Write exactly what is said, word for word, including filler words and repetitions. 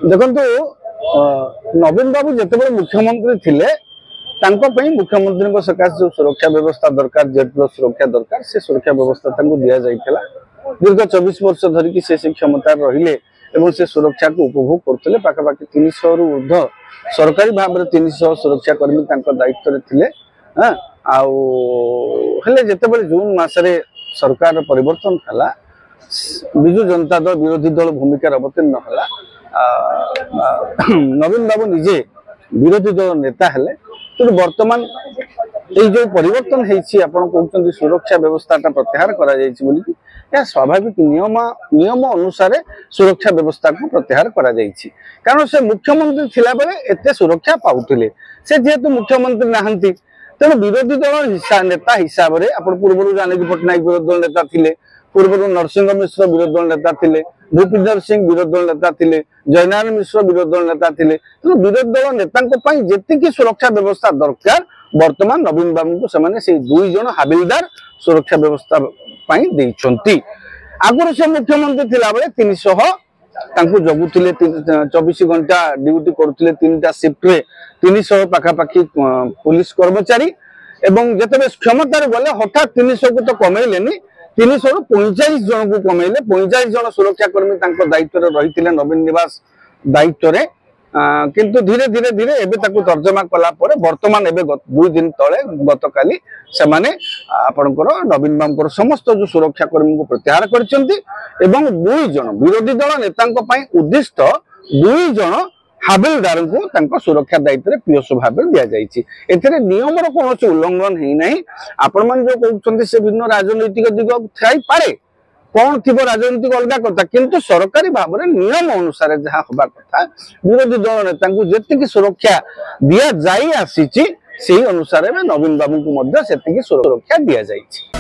ଦେଖନ୍ତୁ, ଅ, ନବୀନ ବାବୁ ଯେତେବେଳେ ମୁଖ୍ୟମନ୍ତ୍ରୀ ଥିଲେ, ତାଙ୍କ ପାଇଁ ମୁଖ୍ୟମନ୍ତ୍ରୀଙ୍କ ସକାଶେ ଯୋଉ ସୁରକ୍ଷା ବ୍ୟବସ୍ଥା ଦରକାର, ଜେଡ୍ ପ୍ଲସ୍ ସୁରକ୍ଷା ଦରକାର, ସେ ସୁରକ୍ଷା ବ୍ୟବସ୍ଥା ତାଙ୍କୁ ଦିଆଯାଇଥିଲା। ଦୀର୍ଘ ଚବିଶ ବର୍ଷ ଧରିକି ସେ ସେ କ୍ଷମତାରେ ରହିଲେ ଏବଂ ସେ ସୁରକ୍ଷାକୁ ଉପଭୋଗ କରୁଥିଲେ। ପାଖାପାଖି ତିନିଶହରୁ ଉର୍ଦ୍ଧ୍ୱ, ସରକାରୀ ଭାବରେ ତିନିଶହ ସୁରକ୍ଷା କର୍ମୀ ତାଙ୍କ ଦାୟିତ୍ୱରେ ଥିଲେ। ହଁ, ଆଉ ହେଲେ ଯେତେବେଳେ ଜୁନ ମାସରେ ସରକାରର ପରିବର୍ତ୍ତନ ହେଲା, ବିଜୁ ଜନତା ଦଳ ବିରୋଧୀ ଦଳ ଭୂମିକାରେ ଅବତୀର୍ଣ୍ଣ ହେଲା, ଆ, ଆ, ନବୀନ ବାବୁ ନିଜେ ବିରୋଧୀ ଦଳ ନେତା ହେଲେ। ତେଣୁ ବର୍ତ୍ତମାନ ଏଇ ଯୋଉ ପରିବର୍ତ୍ତନ ହେଇଛି, ଆପଣ କହୁଛନ୍ତି ସୁରକ୍ଷା ବ୍ୟବସ୍ଥାଟା ପ୍ରତ୍ୟାହାର କରାଯାଇଛି ବୋଲିକି, ଏହା ସ୍ୱାଭାବିକ ନିୟମ ନିୟମ ଅନୁସାରେ ସୁରକ୍ଷା ବ୍ୟବସ୍ଥାକୁ ପ୍ରତ୍ୟାହାର କରାଯାଇଛି। କାରଣ ସେ ମୁଖ୍ୟମନ୍ତ୍ରୀ ଥିଲାବେଳେ ଏତେ ସୁରକ୍ଷା ପାଉଥିଲେ। ସେ ଯେହେତୁ ମୁଖ୍ୟମନ୍ତ୍ରୀ ନାହାନ୍ତି, ତେଣୁ ବିରୋଧୀ ଦଳ ହିସା- ନେତା ହିସାବରେ ଆପଣ ପୂର୍ବରୁ ଜାନକୀ ପଟ୍ଟନାୟକ ବିରୋଧୀ ଦଳ ନେତା ଥିଲେ, ପୂର୍ବରୁ ନରସିଂହ ମିଶ୍ର ବିରୋଧୀ ଦଳ ନେତା ଥିଲେ, ଭୂପିନ୍ଦର ସିଂ ବିରୋଧୀ ଦଳ ନେତା ଥିଲେ, ଜୟନାରାୟଣ ମିଶ୍ର ବିରୋଧୀ ଦଳ ନେତା ଥିଲେ। ତେଣୁ ବିରୋଧୀ ଦଳ ନେତାଙ୍କ ପାଇଁ ଯେତିକି ସୁରକ୍ଷା ବ୍ୟବସ୍ଥା ଦରକାର, ବର୍ତ୍ତମାନ ନବୀନ ବାବୁଙ୍କୁ ସେମାନେ ସେଇ ଦୁଇ ଜଣ ହାବିଲଦାର ସୁରକ୍ଷା ବ୍ୟବସ୍ଥା ପାଇଁ ଦେଇଛନ୍ତି। ଆଗରୁ ସେ ମୁଖ୍ୟମନ୍ତ୍ରୀ ଥିଲାବେଳେ ତିନିଶହ ତାଙ୍କୁ ଜଗୁଥିଲେ, ଚବିଶ ଘଣ୍ଟା ଡ୍ୟୁଟି କରୁଥିଲେ, ତିନିଟା ସିଫ୍ଟରେ ତିନିଶହ ପାଖାପାଖି ଅ, ପୋଲିସ କର୍ମଚାରୀ। ଏବଂ ଯେତେବେଳେ କ୍ଷମତାରେ ଗଲେ, ହଠାତ୍ ତିନିଶହକୁ ତ କମେଇଲେନି, ତିନିଶହରୁ ପଇଁଚାଳିଶ ଜଣକୁ କମେଇଲେ। ପଇଁଚାଳିଶ ଜଣ ସୁରକ୍ଷା କର୍ମୀ ତାଙ୍କ ଦାୟିତ୍ୱରେ ରହିଥିଲେ ନବୀନ ନିବାସ ଦାୟିତ୍ୱରେ। ଆଁ, କିନ୍ତୁ ଧୀରେ ଧୀରେ ଧୀରେ ଏବେ ତାକୁ ତର୍ଜମା କଲା ପରେ ବର୍ତ୍ତମାନ ଏବେ ଗତ- ଦୁଇ ଦିନ ତଳେ, ଗତକାଲି ସେମାନେ ଆପଣଙ୍କର ନବୀନ ବାବୁଙ୍କର ସମସ୍ତ ଯୋଉ ସୁରକ୍ଷା କର୍ମୀଙ୍କୁ ପ୍ରତ୍ୟାହାର କରିଛନ୍ତି ଏବଂ ଦୁଇ ଜଣ ବିରୋଧୀ ଦଳ ନେତାଙ୍କ ପାଇଁ ଉଦ୍ଦିଷ୍ଟ ଦୁଇ ଜଣ ହାବିଲଦାରଙ୍କୁ ତାଙ୍କ ସୁରକ୍ଷା ଦାୟିତ୍ୱରେ ପିଏସ୍ଓ ଭାବରେ ଦିଆଯାଇଛି। ଏଥିରେ ନିୟମର କୌଣସି ଉଲ୍ଲଂଘନ ହେଇନାହିଁ। ଆପଣମାନେ ଯୋଉ କହୁଛନ୍ତି, ସେ ଭିନ୍ନ ରାଜନୈତିକ ଦିଗ ଥାଇପାରେ, କଣ ଥିବ ରାଜନୈତିକ ଅଲଗା କଥା, କିନ୍ତୁ ସରକାରୀ ଭାବରେ ନିୟମ ଅନୁସାରେ ଯାହା ହବା କଥା, ବିରୋଧୀ ଦଳ ନେତାଙ୍କୁ ଯେତିକି ସୁରକ୍ଷା ଦିଆଯାଇ ଆସିଛି, ସେଇ ଅନୁସାରେ ଏବେ ନବୀନ ବାବୁଙ୍କୁ ମଧ୍ୟ ସେତିକି ସୁରକ୍ଷା ଦିଆଯାଇଛି।